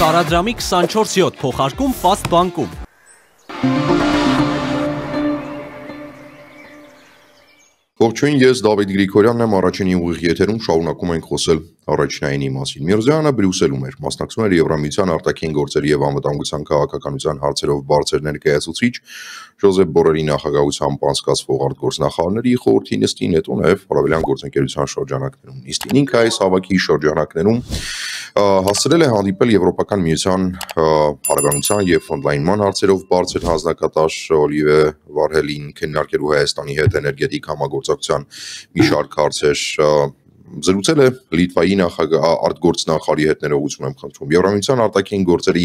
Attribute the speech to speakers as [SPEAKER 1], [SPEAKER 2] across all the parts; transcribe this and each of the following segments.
[SPEAKER 1] Տարադրամի 24/7 փոխարկում Fast Bank-ում։
[SPEAKER 2] Ողջույն, ես Դավիթ Գրիգորյանն եմ, առաջինի ուղիղ եթերում շարունակում ենք խոսել առաջնայինի մասին։ Միրզոյանը Բրյուսելում էր, մասնակցում էր Եվրամիության արտաքին գործերի եւ անվտանգության քաղաքականության հարցերով բարձր ներկայացուցիչ Ժոզեփ Բորելի նախագահությամբ անցկացվող արտգործնախարարների խորհրդի նիստին, հետո նաեւ Արաբելյան գործընկերության շրջանակներում։ Նիստին ինքը այս հավաքի շրջանակներում հասցրել է հանդիպել Եվրոպական միության հարաբերության եւ ֆոնդլայնման հարցերով բարձր հանձնակատար Օլիվիե Վարհելին քննարկելու Հայաստանի հետ էներգետիկ համագործակցության մի շարք հարցեր զրուցել է Լիտվայի արտգործնախարարի հետ ներողություն եմ խնդրում։ Եվրամիության արտաքին գործերի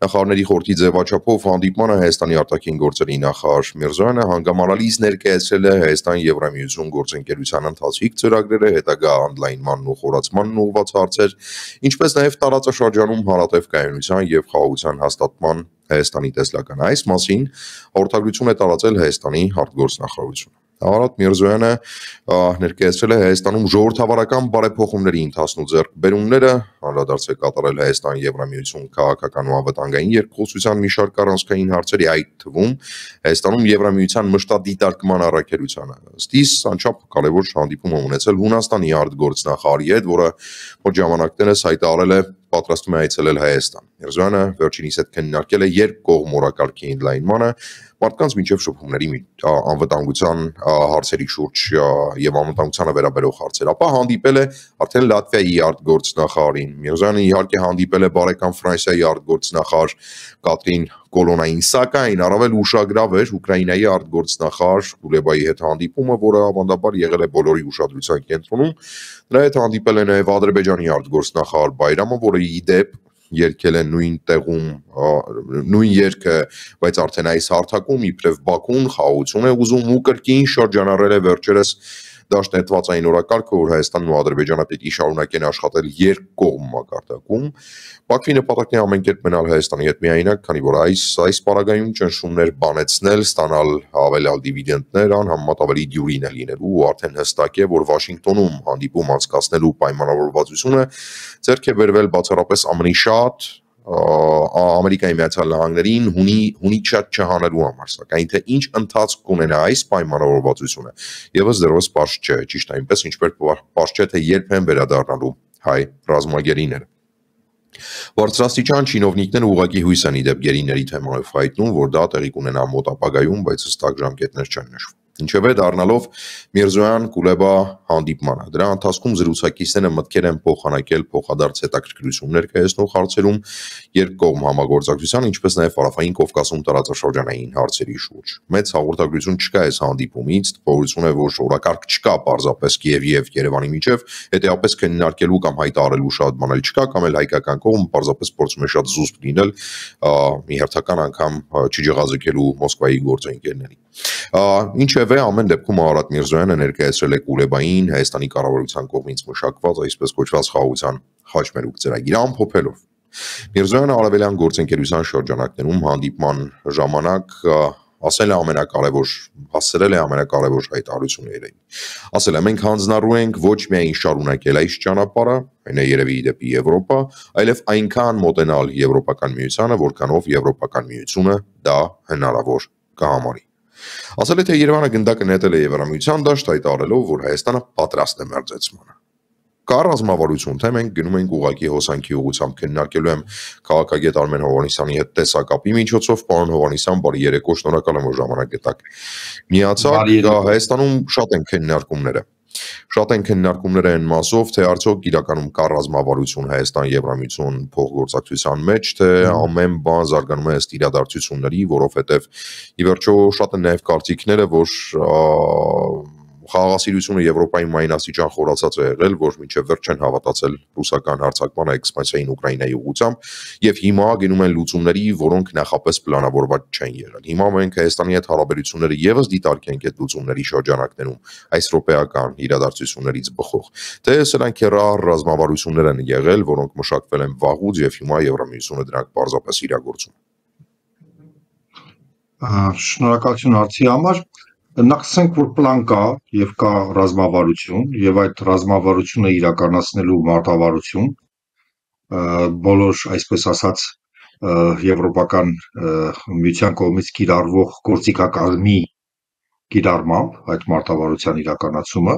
[SPEAKER 2] նախարարների խորհրդի ձևաչափով հանդիպմանը Հայաստանի արտաքին գործերի նախարար Միրզոյանը հանգամանալից ներկայացրել է Հայաստան-Եվրամիություն գործընկերության ընթացիկ ծրագրերը, հետագա օնլայնմանն ու խորացմանն ուղղված հարցեր, ինչպես նաև տարածաշրջանում հարատև կայունության եւ խաղաղության հաստատման Հայաստանի տեսլական այս մասին հաղորդագրություն է տարածել Հայաստանի արտգործնախարարությունը։ Արարատ Միրզոյանը ներկայացրել է Հայաստանում ժողովրդավարական բարեփոխումների ընթացնու ձեռքբերումները, անդրադարձ է կատարել Հայաստան-Եվրամիություն քաղաքական ու անվտանգային երկխոսության մի շարք առանցքային հարցերի, այդ թվում Հայաստանում Եվրամիության մշտադիտարկման առաքելությանը։ Ըստ իս անչափ կարևոր հանդիպում է ունեցել Հունաստանի արտգործնախարարի հետ, որը մոտ ժամանակներս հայտարարել է պատրաստում է այցելել Հայաստան։ Միրզոյանը վերջինիս հետ քննարկել է երկկողմ օրակարգի ընդլայնմանը, մարդկանց մինչև շփումների անվտանգության հարցերի շուրջ եւ անվտանգությանը վերաբերող հարցեր, ապա հանդիպել է արդեն Լատվիայի արտգործնախարարին։ Միրզոյանը իհարկե հանդիպել է բարեկամ Ֆրանսիայի արտգործնախարար Կատրին Կոլոնային, սակայն առավել ուշագրավ էր Ուկրաինայի արտգործնախարար Կուլեբայի հետ հանդիպումը, որը ավանդաբար եղել է բոլորի ուշադրության կենտրոնում։ Նրա հետ հանդիպել է նաև Ադրբեջանի արտգործնախարար Բայրամը, որը ի դեպ երկել է նույն տեղում նույն երգը, բայց արդեն այս հարթակում իբրև Բաքուն խաղաղություն է ուզում ու կրկին շրջանառել է վերջերս դաշնետվածային օրակարգը, որ Հայաստանն ու Ադրբեջանը պետք է շարունակեն աշխատել երկկողմ մակարդակում։ Բաքվի նպատակն է ամեն կերպ մնալ Հայաստանի հետ միայնակ, քանի որ այս պարագայում ճնշումներ բանեցնել, ստանալ հավելյալ դիվիդենդներ անհամեմատ ավելի դյուրին է լինելու ու արդեն հստակ է, որ Վաշինգտոնում հանդիպում անցկացնելու պայմանավորվածությունը ձեռք է բերվել բացառապես ԱՄՆ-ի շատ Ամերիկայի Միացյալ Նահանգներին հունի շատ չհանելու համար, սակայն թե ինչ ընթացք կունենա այս պայմանավորվածությունը, եւս դեռևս պարզ չէ, ճիշտ այնպես ինչպես պարզ չէ, թե երբ են վերադառնալու հայ ռազմագերիները։ Բարձրաստիճան չինովնիկները ուղղակի հույս են ի դեպ գերիների թեմայով հայտնում, որ դա տեղի կունենա մոտ ապագայում, բայց հստակ ժամկետներ չեն նշվում։ Ինչևէ դառնալով Միրզոյան Կուլեբա հանդիպմանը, դրա ընթացքում զրուցակիցները մտքեր են փոխանակել փոխադարձ հետաքրքրություն ներկայացնող հարցերում երկկողմ համագործակցության, ինչպես նաև Հարավային Կովկասում տարածաշրջանային հարցերի շուրջ։ Մեծ հաղորդագրություն չկա այս հանդիպումից, տպավորություն է, որ օրակարգ չկա պարզապես Կիևի եւ Երևանի միջև, հետեւապես քննարկելու կամ հայտարարելու շատ բան էլ չկա, կամ էլ հայկական կողմը պարզապես փորձում է շատ զուսպ լինել մի հերթական անգամ չջղազրկելու Մոսկվայի գործընկերներին։ Ինչևէ, ամեն դեպքում Արարատ Միրզոյանը ներկայացրել է Կուլեբային Հայաստանի կառավարության կողմից մշակված այսպես կոչված խաղաղության խաչմերուկ ծրագիրը ամփոփելով։ Միրզոյանը Արաբելյան գործընկերության շրջանակներում հանդիպման ժամանակ ասել է ամենակարևոր հայտարարությունները։ Ասել է, մենք հանձնառու ենք ոչ միայն շարունակել այս ճանապարհը, այն է երևի դեպի Եվրոպա, այլև այնքան մոտենալ Եվրոպական միությանը, որքանով Եվրոպական միությունը դա հնարավոր կհամարի։ Ասել է, թե Երևանը գնդակը նետել է Եվրամիության դաշտ, հայտարարելով, որ Հայաստանը պատրաստ է մերձեցմանը։ Կա ռազմավարություն, թե մենք գնում ենք ուղղակի հոսանքի ուղղությամբ, քննարկելու եմ քաղաքագետ Արմեն Հովհաննիսյանի հետ տեսակապի միջոցով, պարոն Հովհաննիսյան, բարի երեկո, շնորհակալ եմ, որ ժամանակ գտաք։ Միացակ, Հայաստանում շատ են քննարկումները այն մասով, թե արդյոք իրականում կա ռազմավարություն Հայաստան-Եվրամիություն փոխգործակցության մեջ, թե ամեն բան զարգանում է ըստ իրադարձությունների, որովհետև ի վերջո շատ են նաև կարծիքները, որ խաղաղասիրությունը Եվրոպայում այն աստիճան խորացած է եղել, որ մինչև վերջ չեն հավատացել ռուսական հարձակման էքսպանսիային Ուկրաինայի ուղղությամբ եւ հիմա գնում են լուծումների, որոնք նախապես պլանավորված չեն եղել։ Հիմա մենք Հայաստանի հետ հարաբերությունները եւս դիտարկենք այդ լուծումների շրջանակներում այս ռոպեական իրադարձություններից բխող, թե սրանք ռազմավարություններ են եղել, որոնք մշակվել են վաղուց եւ հիմա Եվրամիությունը դրանք պարզապես իրագործում։
[SPEAKER 3] Շնորհակալություն հարցի համար։ Նախ ասենք, որ պլան կա եւ կա ռազմավարություն եւ այդ ռազմավարությունը իրականացնելու մարտավարություն բոլոր, այսպես ասած, եվրոպական միության կողմից կիրառվող գործիքակազմի կիրառմամբ այդ մարտավարության իրականացումը,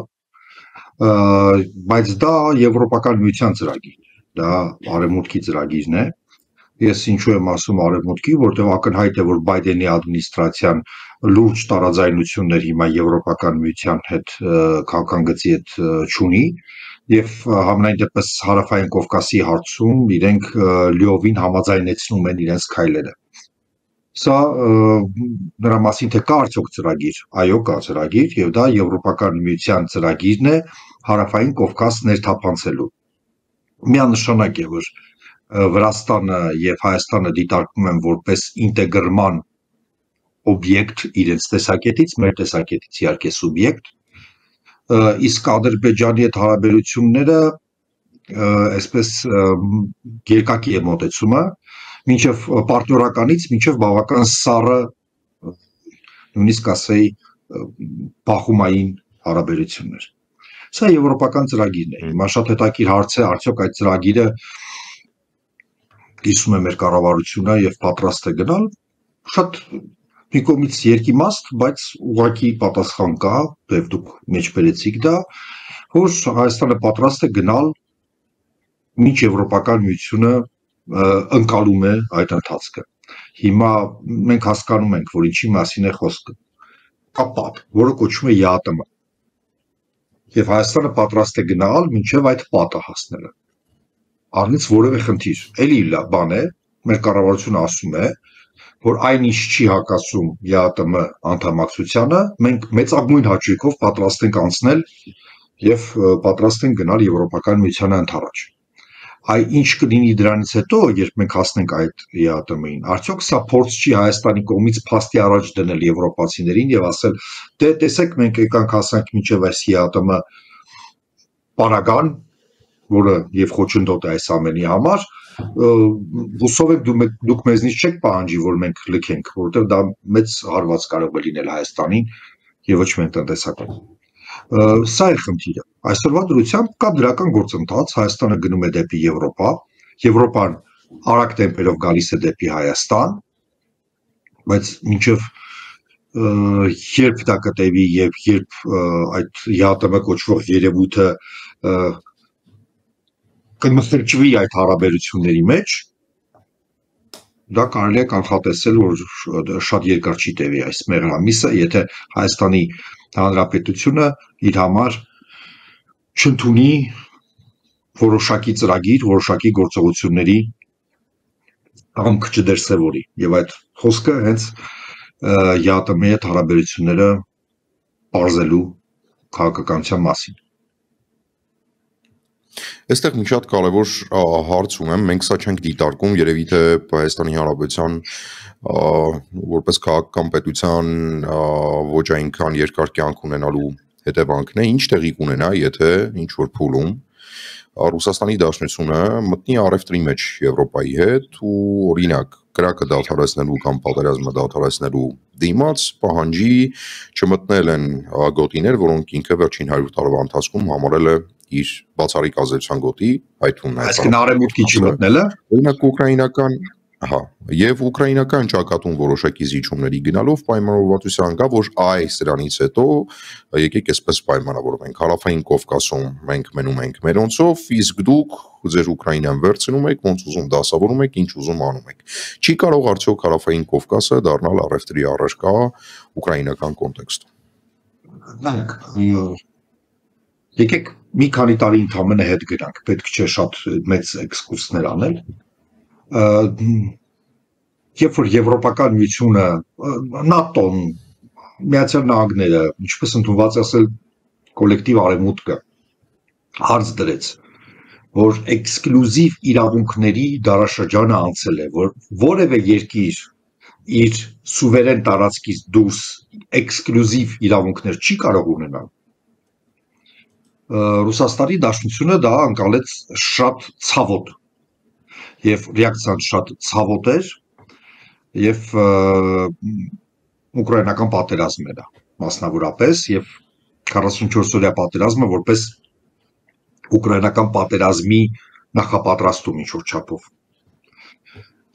[SPEAKER 3] բայց դա եվրոպական միության ծրագիր, դա արևմուտքի ծրագիրն է։ Ես ինչու եմ ասում արևմուտքի, որտեղ ակնհայտ է, որ Բայդենի ադմինիստրացիան լուրջ տարաձայնություններ հիմա եվրոպական միության հետ քաղաքական գծի հետ չունի եւ համենայն դեպս հարավային Կովկասի հարցում իրենք լիովին համաձայնեցնում են իրենց քայլերը։ Սա նրա մասին թե կա արդյոք ծրագիր, այո կա ծրագիր եւ դա եվրոպական միության ծրագիրն է հարավային Կովկաս ներթափանցելու։ Միանշանակ է, որ Վրաստանը եւ Հայաստանը դիտարկում են որպես ինտեգրման օբյեկտ իրենց տեսակետից, մեր տեսակետից իհարկե սուբյեկտ, իսկ Ադրբեջանի հետ հարաբերությունները այսպես երկակի է մոտեցումը, մինչև պարտորականից մինչև բավական սառը, նույնիսկ ասեի բախումային հարաբերություններ։ Սա եվրոպական ծրագիրն է։ Հիմա շատ հետաքրքիր հարց է, արդյոք այդ ծրագիրը կիսում է մեր կառավարությունը եւ պատրաստ է գնալ, շատ մի կողմից երկիմաստ, բայց ուղղակի պատասխան կա, եւ դուք մեջբերեցիք դա, որ Հայաստանը պատրաստ է գնալ մինչ եվրոպական միությունը ընկալում է այդ ընթացքը։ Հիմա մենք հասկանում ենք, որ ինչի մասին է խոսքը։ Կա պատ, որը կոչվում է ԵԱՏՄ։ Եվ Հայաստանը պատրաստ է գնալ մինչև այդ պատը հասնելը։ Առնից որևէ խնդիր, էլի լավ բան է, մեր կառավարությունը ասում է, որ այնինչ չի հակասում ԵԱՏՄ անդամակցությանը, մենք մեծագույն հաճույքով պատրաստ ենք անցնել եւ պատրաստ ենք գնալ եվրոպական միությանը ընդառաջ։ Այ ինչ կլինի դրանից հետո, երբ մենք հասնենք այդ ԵԱՏՄ-ին, արդյոք սա փորձ չի Հայաստանի կողմից փաստի առաջ դնել եվրոպացիներին եւ ասել, դե տեսեք մենք եկանք հասանք մինչեւ այս ԵԱՏՄ պարագան, որը եւ խոչընդոտ է այս ամենի համար, հուսով եք դուք մեզնից չեք պահանջի, որ մենք լքենք, որովհետեւ դա մեծ հարված կարող է լինել Հայաստանին եւ ոչ միայն տնտեսական։ Սա է խնդիրը։ Այսօրվա դրությամբ կա դրական գործընթաց, Հայաստանը գնում է դեպի Եվրոպա, Եվրոպան արագ տեմպերով գալիս է դեպի Հայաստան, բայց մինչև երբ դա կտևի եւ երբ այդ ԵԱՏՄ կոչվող երևույթը կմխրճվի այդ հարաբերությունների մեջ, դա կարելի է կանխատեսել, որ շատ երկար չի տևի այս մեղրամիսը, եթե Հայաստանի Հանրապետությունը իր համար չընդունի որոշակի ծրագիր, որոշակի գործողությունների կամք չդրսևորի, եւ այդ խոսքը հենց ԵԱՏՄ-ի հետ հարաբերությունները բարձելու քաղաքականության մասին։
[SPEAKER 2] Այստեղ մի շատ կարևոր հարց ունեմ, մենք սա չենք դիտարկում, երևի թե Հայաստանի Հանրապետության որպես քաղաքական պետության ոչ այնքան երկար կյանք ունենալու հետևանքն է, ինչ տեղի կունենա, եթե ինչ որ փուլում Ռուսաստանի Դաշնությունը մտնի առևտրի մեջ Եվրոպայի հետ ու օրինակ կրակը դադարեցնելու կամ պատերազմը դադարեցնելու դիմաց պահանջի չմտնել են գոտիներ, որոնք ինքը վերջին 100 տարվա ընթացքում համարել է իր բացառիկ ազդեցության գոտի, այդ թվում
[SPEAKER 3] այսինքն արևմուտքի չմտնելը,
[SPEAKER 2] օրինակ ուկրաինական, եւ ուկրաինական ճակատում որոշակի զիջումների գնալով պայմանավորվածության կա, որ այս դրանից հետո եկեք այսպես պայմանավորվենք, հարավային Կովկասում մենք մնում ենք մերոնցով, իսկ դուք ձեր Ուկրաինան վերցնում եք, ոնց ուզում դասավորում եք, ինչ ուզում անում եք։ Չի կարող արդյոք հարավային Կովկասը դառնալ առևտրի առարկա ուկրաինական կոնտեքստում։
[SPEAKER 3] Եկեք մի քանի տարի ընդամենը հետ գնանք, պետք չէ շատ մեծ էքսկուրսներ անել։ Երբ որ Եվրոպական միությունը, ՆԱՏՕ-ն, Միացյալ Նահանգները, ինչպես ընդունված ասել կոլեկտիվ արևմուտքը հարց դրեց, որ էքսկլյուզիվ իրավունքների դարաշրջանը անցել է, որ որևէ երկիր իր սուվերեն տարածքից դուրս էքսկլյուզիվ իրավունքներ չի կարող ունենալ, Ռուսաստանի Դաշնությունը դա անցալեց շատ ցավոտ եւ ռեակցիան շատ ցավոտ էր եւ ուկրաինական պատերազմն էր մասնավորապես եւ 44 օրյա պատերազմը որպես ուկրաինական պատերազմի նախապատրաստում ինչ-որ չափով։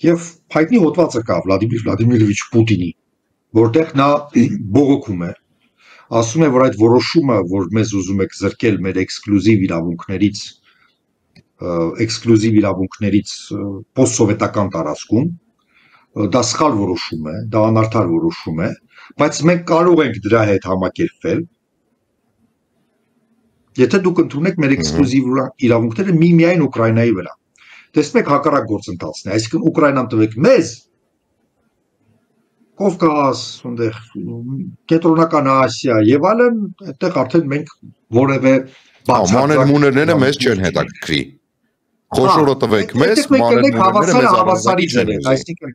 [SPEAKER 3] Եվ հայտնի հոդվածը կա Վլադիմիր Վլադիմիրովիչ Պուտինի, որտեղ նա բողոքում է, ասում է, որ այդ որոշումը, որ մեզ ուզում եք զրկել մեր էքսկլյուզիվ իրավունքներից պոստսովետական տարածքում, դա սխալ որոշում է, դա անարդար որոշում է, բայց մենք կարող ենք դրա հետ համակերպվել, եթե դուք ընդունեք մեր էքսկլյուզիվ իրավունքները միայն Ուկրաինայի վրա։ Տեսնեք հակառակ գործընթացն է, այսինքն Ուկրաինան տվեք մեզ, Կովկաս, Կենտրոնական Ասիա եւ այլն, այդտեղ արդեն մենք որևէ
[SPEAKER 2] մանր-մուներները մեզ չեն հետաքրքրի։ Խոշորը տվեք մեզ, մանր-մուներները
[SPEAKER 3] հավասարիչներ են, այսինքն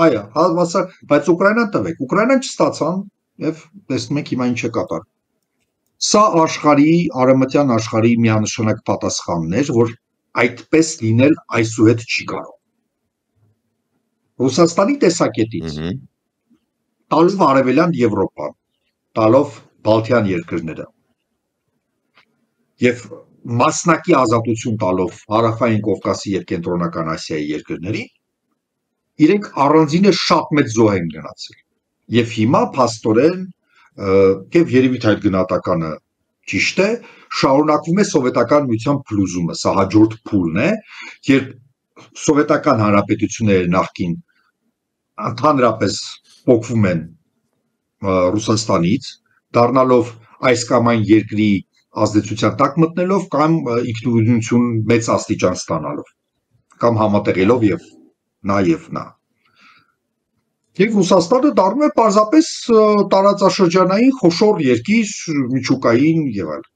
[SPEAKER 3] այո, հավասար, բայց Ուկրաինան տվեք, Ուկրաինան չստացան եւ տեսնում եք հիմա ինչ է կատարվում։ Սա աշխարհի, արևմտյան աշխարհի միանշանակ պատասխանն էր, որ այդպես լինել այսուհետ չի կարող։ Ռուսաստանի տեսակետից տալով Արևելյան Եվրոպան, տալով Բալթյան երկրները եւ մասնակի ազատություն տալով Հարավային Կովկասի եւ Կենտրոնական Ասիայի երկրներին, իրենք առանձինը շատ մեծ զոհ են գնացել։ Եվ հիմա փաստորեն եւ երևի թե այդ գնահատականը ճիշտ է, շարունակվում է սովետական միության փլուզումը, սա հաջորդ փուլն է, երբ սովետական հանրապետությունները նախկին ընդհանրապես փոխվում են Ռուսաստանից, դառնալով այս կամ այն երկրի ազդեցության տակ մտնելով կամ ինքնուրույնություն մեծ աստիճան ստանալով, կամ համատեղելով եւ նա եւ նա։ Եվ Ռուսաստանը դառնում է պարզապես տարածաշրջանային խոշոր երկիր, միջուկային եւ այլն։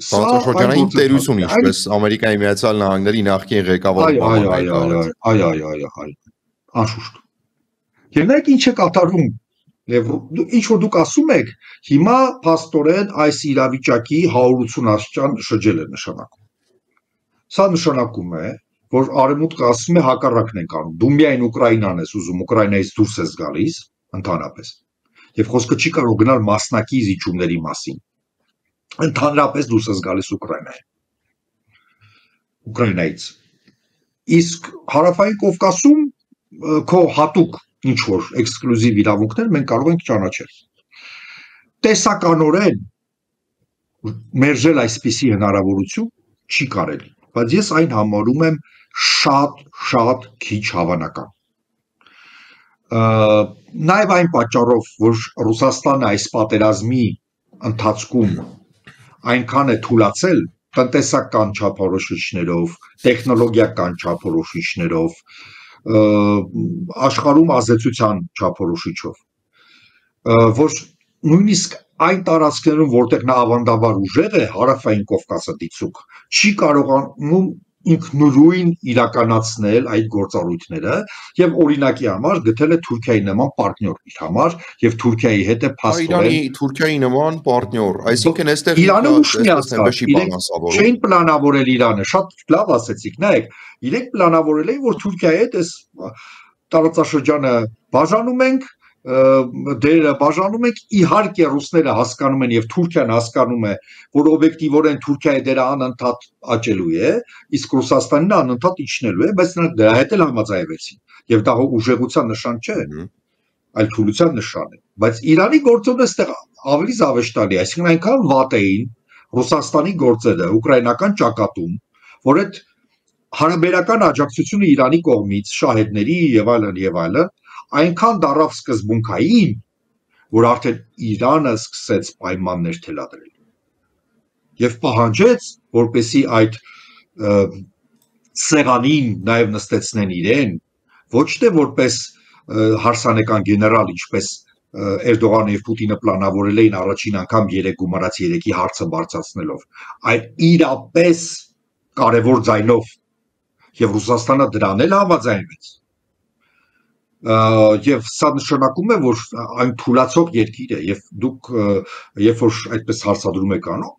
[SPEAKER 2] Տարածաշրջանային տերություն, ինչպես Ամերիկայի Միացյալ Նահանգների նախկին ղեկավարը։
[SPEAKER 3] Այո, անշուշտ։ Եվ նայեք ինչ է կատարվում, եւ ինչ որ դուք ասում եք, հիմա փաստորեն այս իրավիճակի 180 աստիճան շրջել է նշանակում։ Սա նշանակում է, որ Արևմուտքը ասում է հակառակն ենք անում։ Դու միայն Ուկրաինան ես ուզում, Ուկրաինայից դուրս ես գալիս, ընդհանրապես։ Եվ խոսքը չի կարող գնալ մասնակի զիջումների մասին։ Ընդհանրապես դուրս ես գալիս Ուկրաինայից։ Իսկ Հարավային Կովկասում քո հատուկ ինչ որ էքսկլյուզիվ իրավունքներ մենք կարող ենք ճանաչել։ Տեսականորեն մերժել այսպիսի հնարավորություն չի կարելի, բայց ես այն համարում եմ շատ քիչ հավանական։ Նաև այն պատճառով, որ Ռուսաստանը այս պատերազմի ընթացքում այնքան է թուլացել տնտեսական չափորոշիչներով, տեխնոլոգիական չափորոշիչներով, աշխարհում ազդեցության չափորոշիչով, որ նույնիսկ այն տարածքներում, որտեղ նա ավանդաբար ուժեղ է, Հարավային Կովկասը դիցուկ, չի կարողանում ինքնուրույն իրականացնել այդ գործառույթները եւ օրինակի համար գտել է Թուրքիայի նման պարտներ իր համար եւ Թուրքիայի հետ է փաստորեն
[SPEAKER 2] Թուրքիայի նման պարտներ, այսինքն այստեղ
[SPEAKER 3] Իրանը ուշ միացավ, չէին պլանավորել Իրանը, շատ լավ ասեցիք, նայեք, իրենք պլանավորել էին, որ Թուրքիայի հետ այս տարածաշրջանը բաժանում ենք, դերը բաժանում ենք, իհարկե ռուսները հասկանում են եւ Թուրքիան հասկանում է, որ օբյեկտիվորեն Թուրքիայի դերը անընդհատ աճելու է, իսկ Ռուսաստանն անընդհատ իջնելու է, բայց նրանք դրա հետ էլ համաձայնվեցին եւ դա ուժեղության նշան չէ, այլ թուլության նշան է, բայց Իրանի գործոնը այստեղ ավելի զավեշտալի է, այսինքն այնքան վատ էին Ռուսաստանի գործերը ուկրաինական ճակատում, որ այդ հարաբերական աջակցությունը Իրանի կողմից շահեդների եւ այլն այնքան դառավ սկզբունքային, որ արդեն Իրանը սկսեց պայմաններ թելադրել եւ պահանջեց, որպեսի այդ սեղանին նաեւ նստեցնեն իրեն, ոչ թե որպես հարսանեկան գեներալ, ինչպես Էրդողանը եւ Պուտինը պլանավորել էին առաջին անգամ 3 գումարած 3-ի հարցը բարձրացնելով, այլ իրապես կարևոր ձայնով եւ Ռուսաստանը դրան էլ համաձայնվեց։ Եվ սա նշանակում է, որ այն թուլացող երկիր է եւ դուք երբ որ այդպես հարցադրում եք անում,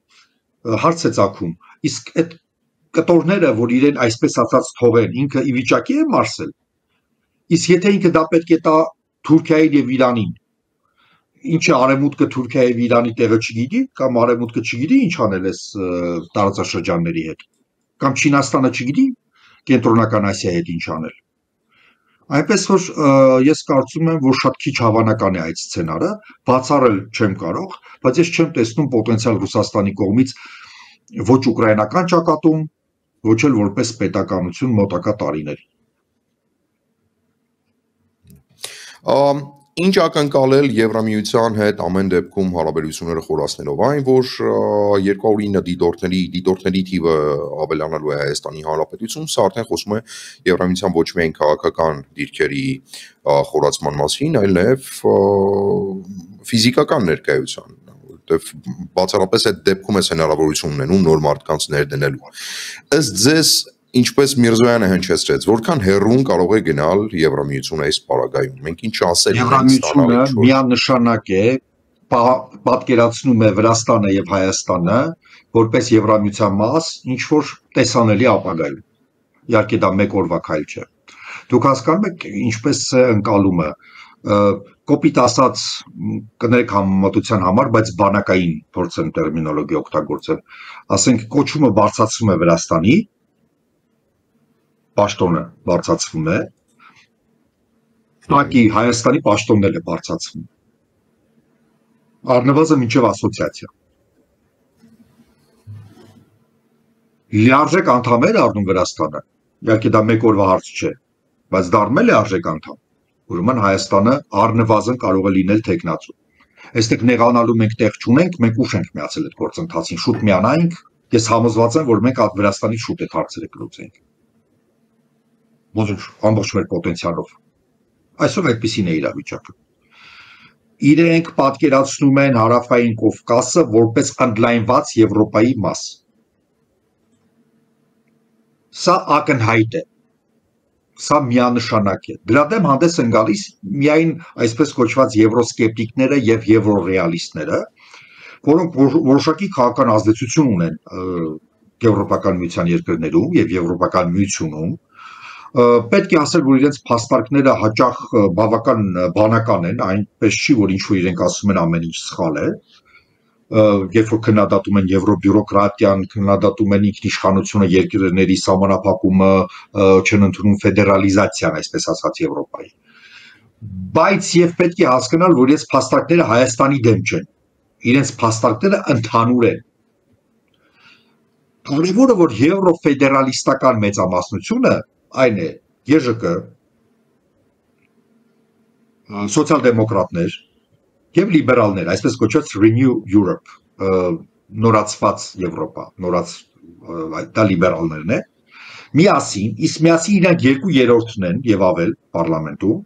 [SPEAKER 3] հարց է ծագում, իսկ այդ կտորները, որ իրեն այսպես ասած թողեն, ինքը ի վիճակի է մարսել, իսկ եթե ինքը դա պետք է տա Թուրքիային եւ Իրանին, ինչը արևմուտքը Թուրքիայի եւ Իրանի տեղը չգիտի, կամ արևմուտքը չգիտի ինչ անել էս տարածաշրջանների հետ, կամ Չինաստանը չգիտի Կենտրոնական Ասիայի հետ ինչ անել։ Այնպես որ ես կարծում եմ, որ շատ քիչ հավանական է այդ սցենարը, բացառել չեմ կարող, բայց ես չեմ տեսնում պոտենցիալ Ռուսաստանի կողմից ոչ ուկրաինական ճակատում, ոչ էլ որպես պետականություն մոտակա տարիների։
[SPEAKER 2] Ինչ ակնկալել Եվրամիության հետ ամեն դեպքում հարաբերությունները խորացնելով այն, որ 209 դիտորդների թիվը ավելանալու է Հայաստանի Հանրապետությունում, սա արդեն խոսում է Եվրամիության ոչ միայն քաղաքական դիրքերի խորացման մասին, այլ նաև ֆիզիկական ներկայության, որտեղ բացառապես այդ դեպքում է հնարավորություն ունենում նոր մարդկանց ներդնելու։ Ըստ ձեզ Ինչպես Միրզոյանը հնչեցրեց, որքան հեռուն կարող է գնալ Եվրամիությունը այս պարագայում։ Մենք ինչ ասել ենք
[SPEAKER 3] Եվրամիությունը միանշանակ է պատկերացնում է Վրաստանը եւ Հայաստանը որպես Եվրամիության մաս, ինչ որ տեսանելի ապագայում։ Իհարկե դա մեկ օրվա քայլ չէ։ Դուք հասկանում եք ինչպես է ընկալումը, կոպիտ ասած կներեք համեմատության համար, բայց բանակային փորձեմ տերմինոլոգիա օգտագործել։ Ասենք կոչումը բարձրացվում է Վրաստանի պաշտոնը բարձրացվում է, Տակի Հայաստանի պաշտոնն էլ է բարձրացվում։ Առնվազն մինչև ասոցիացիա։ Լիարժեք անդամ է դառնում Վրաստանը, իհարկե դա մեկ օրվա հարց չէ, բայց դառնել է արժեք անդամ, ուրեմն Հայաստանը առնվազն կարող է լինել թեկնածու։ Այստեղ նեղանալու մենք տեղ չունենք, մենք ուշ ենք միացել այդ գործընթացին, շուտ միանայինք, ես համոզված եմ, որ մենք Վրաստանից շուտ այդ հարցերը կլուծենք։ Ոչինչ, ամբողջ մեր պոտենցիալով։ Այսօր այդպեսին է իրավիճակը։ Իրենք պատկերացնում են Հարավային Կովկասը որպես ընդլայնված Եվրոպայի մաս։ Սա ակնհայտ է։ Սա միանշանակ է։ Դրա դեմ հանդես են գալիս միայն այսպես կոչված եվրոսկեպտիկները եւ եվրոռեալիստները, որոնք որոշակի քաղաքական ազդեցություն ունեն Եվրոպական միության երկրներում եւ Եվրոպական միությունում։ Պետք է ասել, որ իրենց փաստարկները հաճախ բավական բանական են, այնպես չի, որ ինչ-որ իրենք ասում են ամեն ինչ սխալ է, երբ որ քննադատում են եվրոբյուրոկրատիան, քննադատում են ինքնիշխանությունը, երկրների սահմանափակումը, չեն ընդունում ֆեդերալիզացիան, այսպես ասած Եվրոպայի։ Բայց եւ պետք է հասկանալ, որ իրենց փաստարկները Հայաստանի դեմ չեն, իրենց փաստարկները ընդհանուր են։ Կարևորը, որ եվրոֆեդերալիստական մեծամասնությունը այն է ԵԺԿ, սոցիալ-դեմոկրատներ եւ լիբերալներ, այսպես կոչված Renew Europe, նորացված Եվրոպա, դա լիբերալներն է, միասին, իսկ միասին իրանք 2/3-ն են եւ ավել պարլամենտում,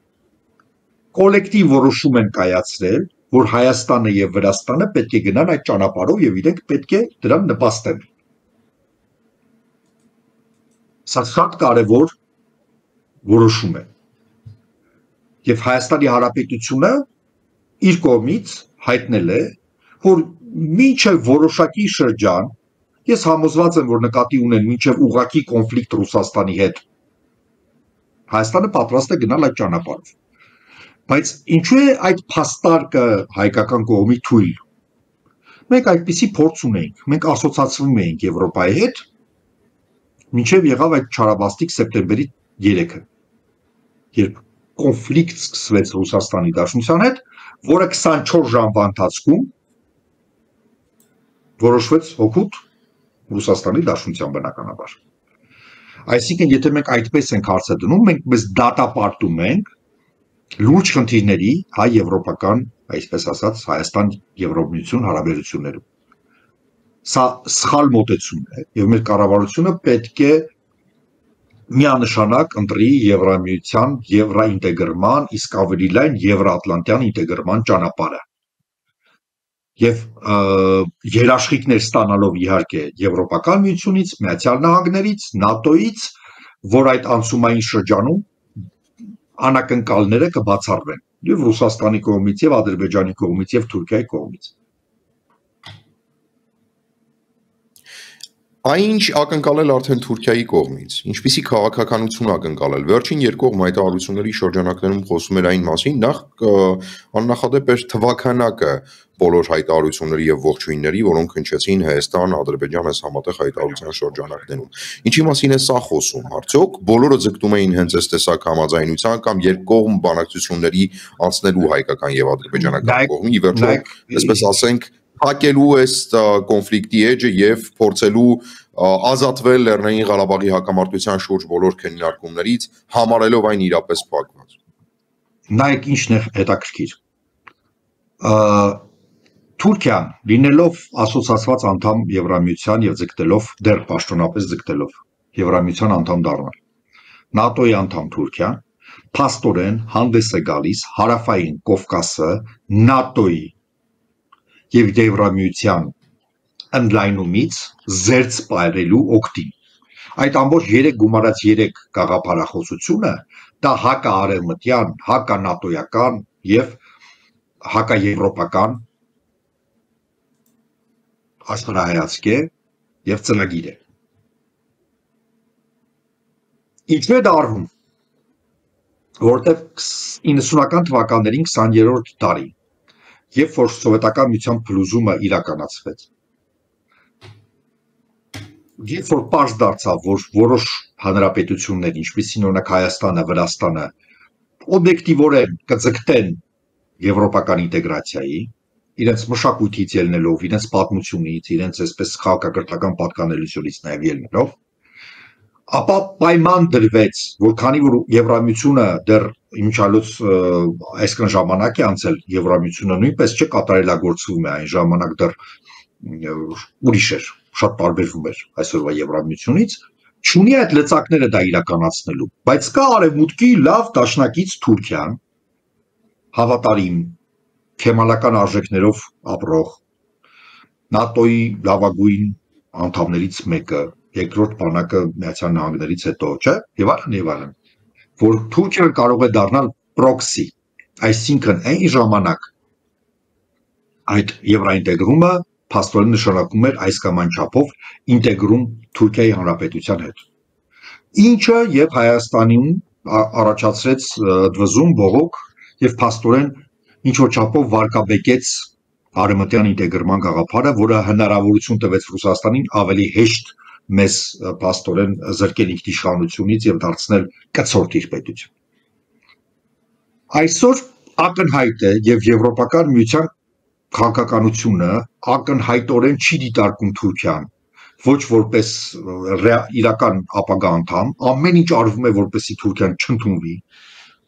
[SPEAKER 3] կոլեկտիվ որոշում են կայացրել, որ Հայաստանը եւ Վրաստանը պետք է գնան այդ ճանապարհով եւ իրենք պետք է դրան նպաստեն։ Սա շատ կարևոր որոշում է։ Եվ Հայաստանի Հանրապետությունը իր կողմից հայտնել է, որ մինչև որոշակի շրջան, ես համոզված եմ, որ նկատի ունեն մինչև ուղղակի կոնֆլիկտ Ռուսաստանի հետ, Հայաստանը պատրաստ է գնալ այդ ճանապարհով։ Բայց ինչու է այդ փաստարկը հայկական կողմի թույլ։ Մենք այդպիսի փորձ ունենք, մենք ասոցացվում էինք Եվրոպայի հետ, մինչև եղավ այդ չարաբաստիկ սեպտեմբերի 3-ը, երբ կոնֆլիկտ սկսվեց Ռուսաստանի Դաշնության հետ, որը 24 ժամվա ընթացքում որոշվեց հօգուտ Ռուսաստանի Դաշնության բնականաբար։ Այսինքն, եթե մենք այդպես ենք հարցը դնում, մենք մեզ դատապարտում ենք լուրջ խնդիրների հայ-եվրոպական, այսպես ասած, Հայաստան-Եվրոմիություն հարաբերություններում։ Սա սխալ մոտեցում է, եւ մեր կառավարությունը պետք է միանշանակ ընտրի Եվրամիության եվրաինտեգրման, իսկ ավելի լայն եվրաատլանտյան ինտեգրման ճանապարհը։ Եվ երաշխիքներ ստանալով իհարկե Եվրոպական միությունից, Միացյալ Նահանգներից, ՆԱՏՕ-ից, որ այդ անցումային շրջանում անակնկալները կբացառվեն եւ Ռուսաստանի կողմից, եւ Ադրբեջանի կողմից, եւ Թուրքիայի կողմից։
[SPEAKER 2] Այնինչ ակնկալել արդեն Թուրքիայի կողմից, ինչպիսի քաղաքականություն ակնկալել։ Վերջին երկկողմ հայտարարությունների շրջանակներում խոսում էր այն մասին, նախ աննախադեպ էր թվականակը բոլոր հայտարարությունների եւ ողջույնների, որոնք հնչեցին Հայաստան, Ադրբեջան այս համատեղ հայտարարության շրջանակներում։ Ինչի մասին է սա խոսում, արդյոք բոլորը ձգտում էին հենց այս տեսակ համաձայնության կամ երկկողմ բանակցությունների անցնելու հայկական եւ ադրբեջանական կողմի, ի վերջո, այսպես ասենք, փակելու այս կոնֆլիկտի էջը եւ փորձելու ազատվել Լեռնային Ղարաբաղի հակամարտության շուրջ բոլոր քննարկումներից, համարելով այն իրապես փակված։
[SPEAKER 3] Նայեք ինչն է հետաքրքիր։ Թուրքիան լինելով ասոցիացված անդամ Եվրամիության եւ ձգտելով դեռ պաշտոնապես ձգտելով Եվրամիության անդամ դառնալ, ՆԱՏՕ-ի անդամ Թուրքիան փաստորեն հանդես է գալիս հարավային Կովկասը ՆԱՏՕ-ի եւ Եվրամիության ընդլայնումից զերծ պայրելու օգտին։ Այդ ամբողջ 3 գումարած 3 գաղափարախոսությունը դա հակաարևմտյան, հականատոյական եւ հակաեվրոպական աշխարհայացք է եւ ծրագիր է։ Ինչու է դա արվում։ Որտեղ 90-ական թվականներին 20-րդ տարի, երբ որ սովետական միության փլուզումը իրականացվեց, երբ որ պարզ դարձավ, որ որոշ հանրապետություններ, ինչպիսին օրինակ Հայաստանը, Վրաստանը, օբյեկտիվորեն կձգտեն եվրոպական ինտեգրացիայի, իրենց մշակույթից ելնելով, իրենց պատմությունից, իրենց այսպես քաղաքակրթական պատկանելությունից նաև ելնելով, ապա պայման դրվեց, որ քանի որ Եվրամիությունը դեռ իմիջիալոց այսքան ժամանակ է անցել, Եվրամիությունը նույնպես չկատարելագործվում է, այն ժամանակ դեռ ուրիշ էր, շատ տարբերվում էր այսօրվա Եվրամիությունից, չունի այդ լծակները դա իրականացնելու, բայց կա արևմուտքի լավ դաշնակից Թուրքիան, հավատարիմ, քեմալական արժեքներով ապրող, ՆԱՏՕ-ի լավագույն անդամներից մեկը, երկրորդ բանակը Միացյալ Նահանգներից հետո, չէ՞, եւ այլն, որ Թուրքիան կարող է դառնալ պրոքսի, այսինքն այն ժամանակ այդ եվրոինտեգրումը փաստորեն նշանակում էր այս կամ այն չափով ինտեգրում Թուրքիայի Հանրապետության հետ։ Ինչը եւ Հայաստանին առաջացրեց դվզում, բողոք եւ փաստորեն ինչ որ չափով վարկաբեկեց արևմտյան ինտեգրման գաղափարը, որը հնարավորություն տվեց Ռուսաստանին ավելի հեշտ մեզ փաստորեն զրկել ինքնիշխանությունից եւ դարձնել կցորդ իր պետություն։ Այսօր ակնհայտ է եւ եվրոպական միության քաղաքականությունը ակնհայտորեն չի դիտարկում Թուրքիան ոչ որպես իրական ապագա անդամ, ամեն ինչ արվում է որպեսզի Թուրքիան չընդունվի,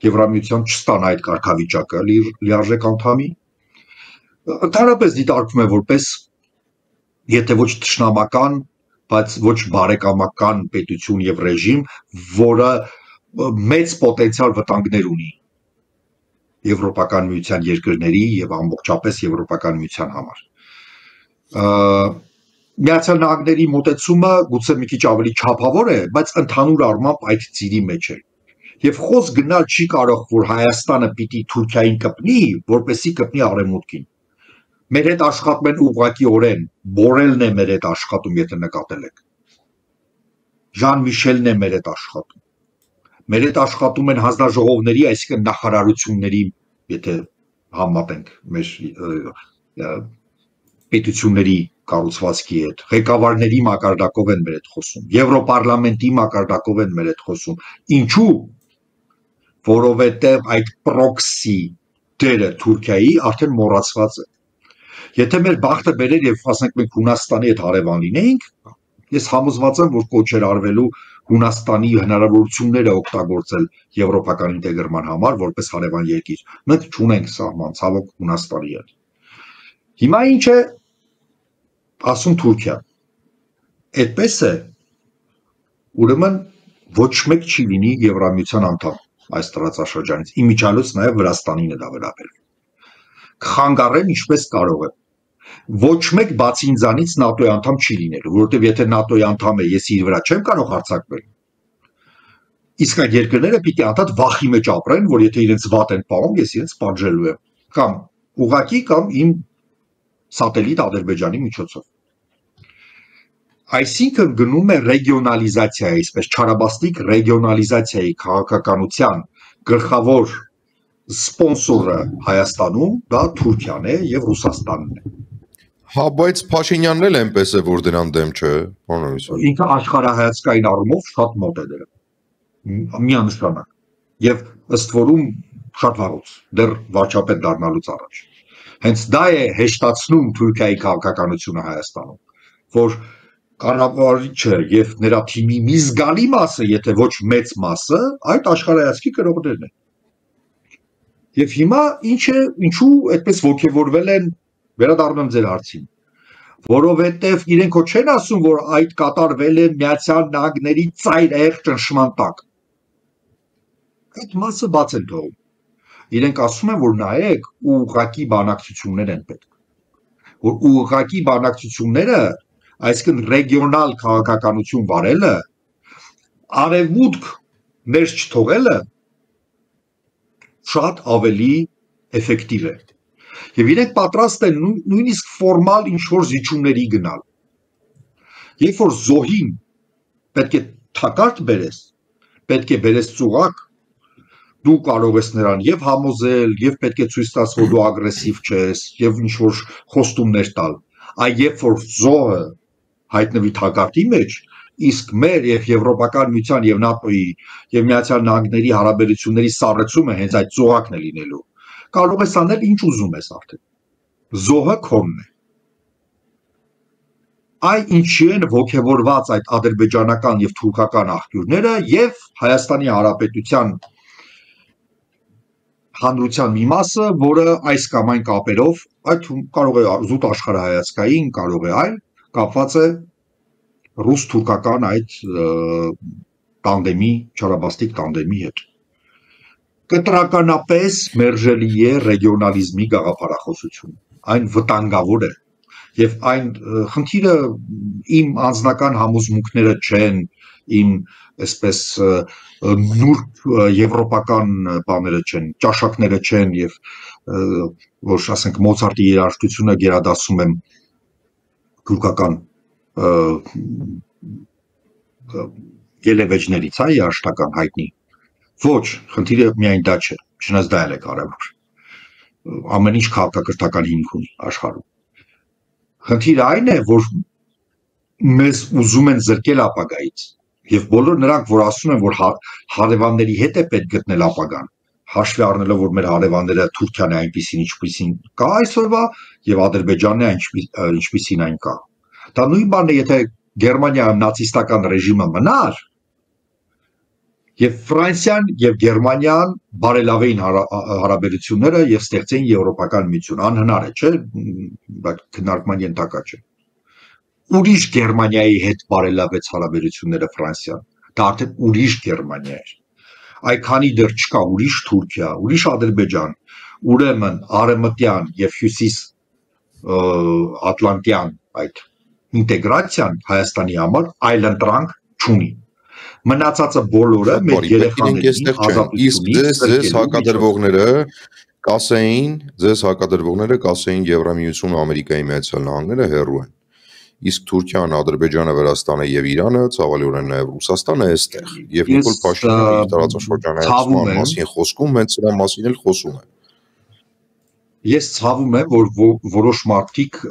[SPEAKER 3] Եվրամիության չստանա այդ կարգավիճակը լիարժեք անդամի, ընդհանրապես դիտարկվում է որպես եթե ոչ թշնամական, բայց ոչ բարեկամական պետություն եւ ռեժիմ, որը մեծ պոտենցիալ վտանգներ ունի եվրոպական միության երկրների եւ ամբողջապես եվրոպական միության համար։ Միացյալ Նահանգների մոտեցումը գուցե մի քիչ ավելի չափավոր է, բայց ընդհանուր առմամբ այդ ծիրի մեջ է։ Եվ խոս գնալ չի կարող, որ Հայաստանը պիտի Թուրքիային կպնի, որպեսզի կպնի արևմուտքին։ Մեր հետ աշխատում են ուղղակիորեն, Բորելն է մեր հետ աշխատում, եթե նկատել եք։ Ժան Միշելն է մեր հետ աշխատում։ Մեր հետ աշխատում են հանձնաժողովների, այսինքն նախարարությունների, եթե համատենք մեր պետությունների կառուցվածքի հետ, ղեկավարների մակարդակով են մեր հետ խոսում, Եվրոպարլամենտի մակարդակով են մեր հետ խոսում։ Ինչու՞։ Որովհետև այդ պրոքսի դերը Թուրքիայի արդեն մոռացված է։ Եթե մեր բախտը բերեր եւ ասենք մենք Հունաստանի հետ հարևան լինեինք, ես համոզված եմ, որ կոչեր արվելու Հունաստանի հնարավորությունները օգտագործել եվրոպական ինտեգրման համար որպես հարևան երկիր։ Մենք չունենք սահման, ցավոք Հունաստանի հետ։ Հիմա ինչ է ասում Թուրքիան։ Այդպես է, ուրեմն ոչ մեկ չի լինի Եվրամիության անդամ այս տարածաշրջանից, իմիջիալոց նաև Վրաստանին է դա վերաբերվում։ Կխանգարեն ինչպես կարող է։ Ոչ մեկ բացի ինձանից ՆԱՏՕ-ի անդամ չի լինելու, որովհետև եթե ՆԱՏՕ-ի անդամ է, ես իր վրա չեմ կարող հարձակվել։ Իսկ այդ երկրները պիտի անդադ վախի մեջ ապրեն, որ եթե իրենց վատ են պահում, ես իրենց պատժելու եմ, կամ ուղղակի կամ իմ սատելիտ Ադրբեջանի միջոցով։ Այսինքն գնում է ռեգիոնալիզացիայի, այսպես չարաբաստիկ ռեգիոնալիզացիայի քաղաքականության գլխավոր սպոնսորը Հայաստանում դա Թուրքիան է եւ Ռուսաստանն է։
[SPEAKER 2] Հա, բայց Փաշինյանն էլ այնպես է, որ դրան դեմ չէ, բանալիսը։
[SPEAKER 3] Ինքը աշխարհայացքային առումով շատ մոտ է դրան։ Միանշանակ։ Եվ ըստ որում շատ վաղուց, դեռ վարչապետ դառնալուց առաջ։ Հենց դա է հեշտացնում Թուրքիայի քաղաքականությունը Հայաստանում, որ կառավարիչը եւ նրա թիմի մի զգալի մասը, եթե ոչ մեծ մասը, այդ աշխարհայացքի կրողներն են։ Եվ հիմա ինչու այդպես ոգևորվել են, վերադառնում ձեր հարցին, որովհետև իրենք ոչ չեն ասում, որ այդ կատարվել է Միացյալ Նահանգների ծայրահեղ ճնշման տակ։ Այդ մասը բաց են թողում։ Իրենք ասում են, որ նայեք, ուղղակի բանակցություններ են պետք։ Որ ուղղակի բանակցությունները, այսինքն ռեգիոնալ քաղաքականություն վարելը, արևմուտք ներս չթողելը շատ ավելի էֆեկտիվ է։ Եվ իրենք պատրաստ են նույնիսկ ֆորմալ ինչ-որ զիջումների գնալ։ Երբ որ զոհին պետք է թակարդ բերես, պետք է բերես ծուղակ, դու կարող ես նրան եւ համոզել, եւ պետք է ցույց տաս, որ դու ագրեսիվ չես, եւ ինչ-որ խոստումներ տալ։ Այ երբ որ զոհը հայտնվի թակարդի մեջ, իսկ մեր եւ Եվրոպական միության եւ ՆԱՏՕ-ի եւ Միացյալ Նահանգների հարաբերությունների սառեցումը հենց այդ ծուղակն է լինելու։ Կարող ես անել ինչ ուզում ես արդեն։ Զոհը քոնն է։ Այ ինչի են ոգևորված այդ ադրբեջանական եւ թուրքական աղբյուրները եւ Հայաստանի Հանրապետության հանրության մի մասը, որը այս կամ այն կապերով, այդ կարող է զուտ աշխարհայացքային, կարող է այլ, կապված է ռուս-թուրքական այդ տանդեմի, չարաբաստիկ տանդեմի հետ։ Կտրականապես մերժելի է ռեգիոնալիզմի գաղափարախոսություն, այն վտանգավոր է, եւ այն խնդիրը իմ անձնական համոզմունքները չեն, իմ այսպես նուրբ եվրոպական բաները չեն, ճաշակները չեն եւ որ ասենք Մոցարտի երաժշտությունը գերադասում եմ թուրքական ելևեջներից, այ երաժշտական հայտնի։ Ոչ, խնդիրը միայն դա չէ, չնայած դա էլ է կարևոր։ Ամեն ինչ քաղաքակրթական հիմք ունի աշխարհում։ Խնդիրը այն է, որ մեզ ուզում են զրկել ապագայից եւ բոլոր նրանք, որ ասում են, որ հարևանների հետ է պետք գտնել ապագան, հաշվի առնելով, որ մեր հարևանները Թուրքիան է այնպեսին, ինչպեսին կա այսօրվա եւ Ադրբեջանն է ինչպեսին այն կա։ Դա նույն բանն է, եթե Գերմանիայում նացիստական ռեժիմը մնար եւ Ֆրանսիան եւ Գերմանիան բարելավեին հարաբերությունները եւ ստեղծեին եվրոպական միություն, անհնար է, չէ՞, բայց քննարկման ենթակա չէ։ Ուրիշ Գերմանիայի հետ բարելավեց հարաբերությունները Ֆրանսիան, դա արդեն ուրիշ Գերմանիա էր։ Այ քանի դեռ չկա ուրիշ Թուրքիա, ուրիշ Ադրբեջան, ուրեմն արևմտյան եւ հյուսիս ատլանտյան այդ ինտեգրացիան Հայաստանի համար այլընտրանք չունի։ Մնացածը բոլորը մեր երեխաներին ազատությունից
[SPEAKER 2] ձեզ հակադրվողները կասեին Եվրամիությունը, Ամերիկայի Միացյալ Նահանգները հեռու են։ Իսկ Թուրքիան, Ադրբեջանը, Վրաստանը եւ Իրանը, ցավալիորեն նաեւ Ռուսաստանը այստեղ։ Եվ Նիկոլ Փաշինյանը իր տարածաշրջանային մասին խոսքում հենց սրա մասին էլ խոսում է։
[SPEAKER 3] Ես ցավում եմ, որ որոշ մարդիկ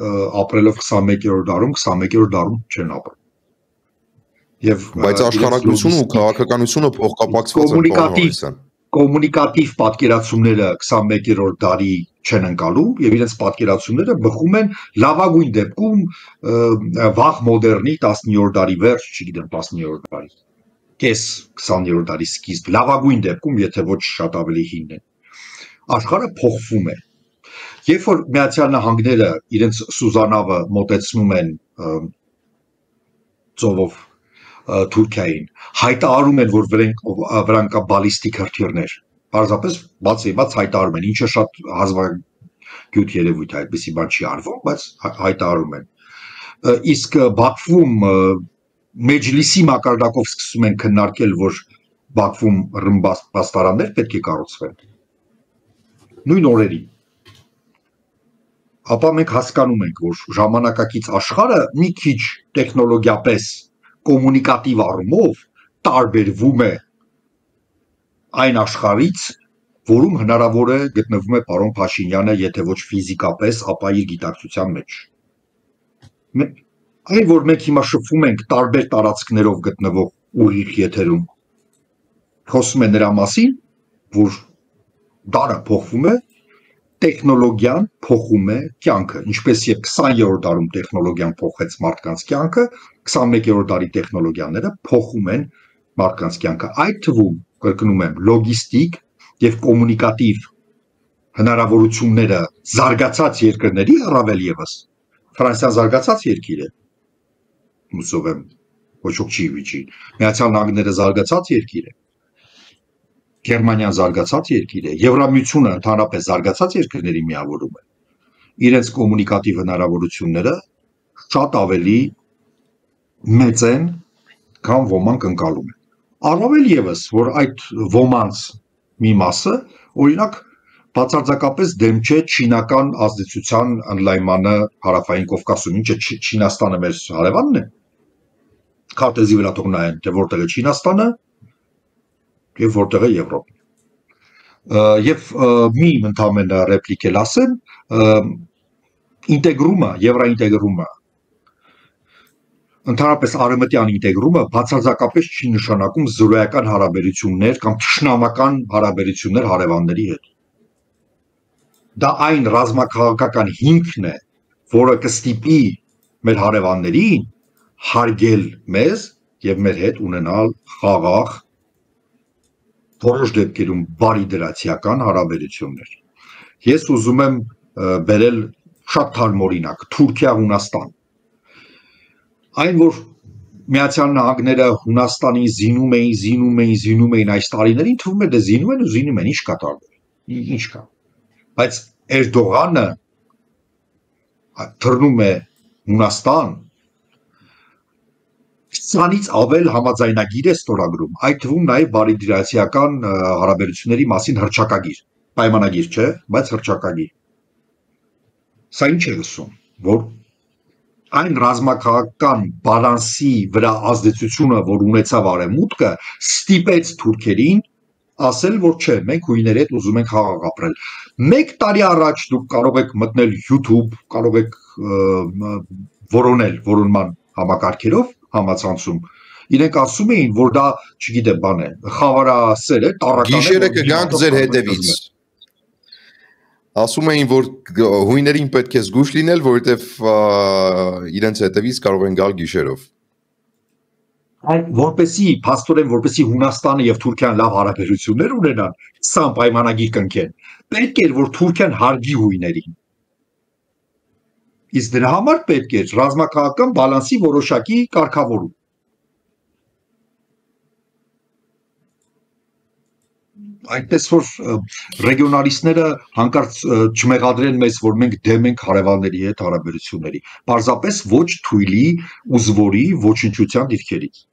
[SPEAKER 3] ապրելով 21-րդ դարում, 21-րդ դարում չեն ապրում։
[SPEAKER 2] Բայց աշխարհագրությունը ու քաղաքականությունը փոխկապակցված են։
[SPEAKER 3] Կոմունիկատիվ պատկերացումները 21-րդ դարի չեն ընկալում եւ իրենց պատկերացումները բխում են լավագույն դեպքում վաղ մոդեռնի 19-րդ դարի վերջ, չգիտեմ 19-րդ դարի կես 20-րդ դարի սկիզբ, լավագույն դեպքում, եթե ոչ շատ ավելի հին է։ Աշխարհը փոխվում է։ Երբ որ Միացյալ Նահանգները իրենց Սուզանավը մոտեցնում են ծովով Թուրքիային, հայտարարում են, որ վրան կա բալիստիկ հրթիռներ, պարզապես բաց հայտարարում են, ինչը շատ հազվագյուտ երևույթ է, այդպիսի բան չի արվում, բայց հայտարարում են։ Իսկ Բաքվում Մեջլիսի մակարդակով սկսում են քննարկել, որ Բաքվում ռմբաստարաններ պետք է կառուցվեն։ Նույն օրերին։ ապա մենք հասկանում ենք, որ ժամանակակից աշխարհը մի քիչ տեխնոլոգիապես կոմունիկատիվ առումով տարբերվում է այն աշխարհից, որում հնարավոր է գտնվում է պարոն Փաշինյանը, եթե ոչ ֆիզիկապես, ապա իր գիտակցության մեջ։ Այն որ մենք հիմա շփվում ենք տարբեր տարածքներով գտնվող ուղիղ եթերում, խոսում է նրա մասին, որ դարը փոխվում է, տեխնոլոգիան փոխում է կյանքը, ինչպես եւ 20-րդ դարում տեխնոլոգիան փոխեց մարդկանց կյանքը, 21-րդ դարի տեխնոլոգիաները փոխում են մարդկանց կյանքը, այդ թվում կրկնում եմ լոգիստիկ եւ կոմունիկատիվ հնարավորությունները զարգացած երկրների առավել եւս Ֆրանսիան զարգացած երկիր է, հուսով եմ ոչ ոք չի վիճի, Միացյալ Նահանգները զարգացած երկիր է, Գերմանիան զարգացած երկիր է, Եվրամիությունը ընդհանրապես զարգացած երկրների միավորում է, իրենց կոմունիկատիվ հնարավորությունները շատ ավելի մեծ են, քան ոմանք ընկալում են։ Առավել եւս, որ այդ ոմանց մի մասը, օրինակ, բացարձակապես դեմ չէ չինական ազդեցության ընդլայնմանը հարավային Կովկասում, ինչը Չինաստանը մեր հարևանն է, քարտեզի վրա թող նայեն, թե որտեղ է Չինաստանը եւ որտեղ է Եվրոպան։ Եվ մի ընդհանրապես ռեպլիկ էլ ասեմ, ինտեգրումը, եվրոինտեգրումը, ընդհանրապես արևմտյան ինտեգրումը բացարձակապես չի նշանակում զրոյական հարաբերություններ կամ թշնամական հարաբերություններ հարևանների հետ։ Դա այն ռազմաքաղաքական հիմքն է, որը կստիպի մեր հարևաններին հարգել մեզ եւ մեր հետ ունենալ խաղաղ, որոշ դեպքերում բարիդրացիական հարաբերություններ։ Ես ուզում եմ բերել շատ թարմ օրինակ, Թուրքիա-Հունաստան։ Այն որ Միացյալ Նահանգները Հունաստանին զինում էին այս տարիներին, թվում է դե զինում են, ինչ կա տարբեր, ինչ կա։ Բայց Էրդողանը թռնում է Հունաստան, 20-ից ավել համաձայնագիր է ստորագրում, այդ թվում նաև բարիդրացիական հարաբերությունների մասին հռչակագիր, պայմանագիր չէ, բայց հռչակագիր։ Սա ինչ է ասում, որ այն ռազմաքաղաքական բալանսի վրա ազդեցությունը, որ ունեցավ արևմուտքը, ստիպեց թուրքերին ասել, որ չէ, մենք հույների հետ ուզում ենք խաղաղ ապրել։ 1 տարի առաջ դուք կարող եք մտնել YouTube, կարող եք որոնել որոնման համակարգերով համացանցում։ Իրենք ասում էին, որ դա, չգիտեմ, բան է, խավարասեր է, տառական է։
[SPEAKER 2] Գիշերը կգանք ձեր հետևից։ Ասում էին, որ հույներին պետք է զգուշ լինել, որովհետև իրենց հետևից կարող են գալ գիշերով։
[SPEAKER 3] Այդ որպեսի, փաստորեն, որպեսի Հունաստանը եւ Թուրքիան լավ հարաբերություններ ունենան, սա պայմանագիր կնքեն։ Պետք էր, որ Թուրքիան հարգի հույներին։ Իսկ դրա համար պետք է ռազմաքաղաքական բալանսի որոշակի կարգավորում։ Այդպես որ ռեգիոնալիստները հանկարծ չմեղադրեն մեզ, որ մենք դեմ ենք հարևանների հետ հարաբերությունների, պարզապես ոչ թույլի ու զվորի ոչնչության դիրքերից։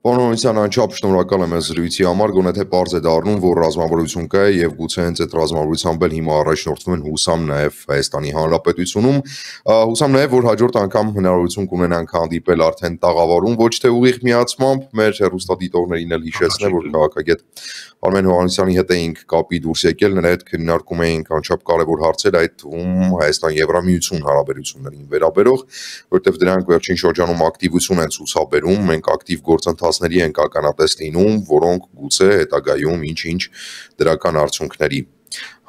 [SPEAKER 2] Պարոն Հովհաննիսյան, անչափ շնորհակալ եմ այս զրույցի համար, գոնե թե պարզ է դառնում, որ ռազմավարություն կա եւ գուցե հենց այդ ռազմավարությամբ էլ հիմա առաջնորդվում են հուսամ նաեւ Հայաստանի Հանրապետությունում, հուսամ նաեւ որ հաջորդ անգամ հնարավորություն կունենանք հանդիպել արդեն տաղավարում, ոչ թե ուղիղ միացմամբ, մեր հեռուստադիտողներին էլ հիշեցնեմ, որ քաղաքագետ Արմեն Հովհաննիսյանի հետ էինք կապի դուրս եկել, նրա հետ քննարկում էինք անչափ կարևոր հարցեր, այդ թվում Հայաստան-Եվրամիություն հարաբերություններին վերաբերող, որտեղ դրանք վերջին շրջանում ակտիվություն են ցուցաբերում, մենք ակտիվ գործընթացների ենք ականատես լինում, որոնք գուցե հետագայում ինչ-ինչ դրական արդյունքների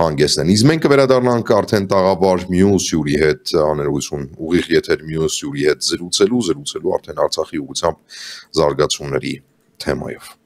[SPEAKER 2] հանգեցնեն։ Իսկ մենք կվերադառնանք արդեն տաղավար մյուս հյուրի հետ աներողություն, ուղիղ եթեր մյուս հյուրի հետ զրուցելու արդեն Արցախի ուղղությամբ զարգացումների թեմայով։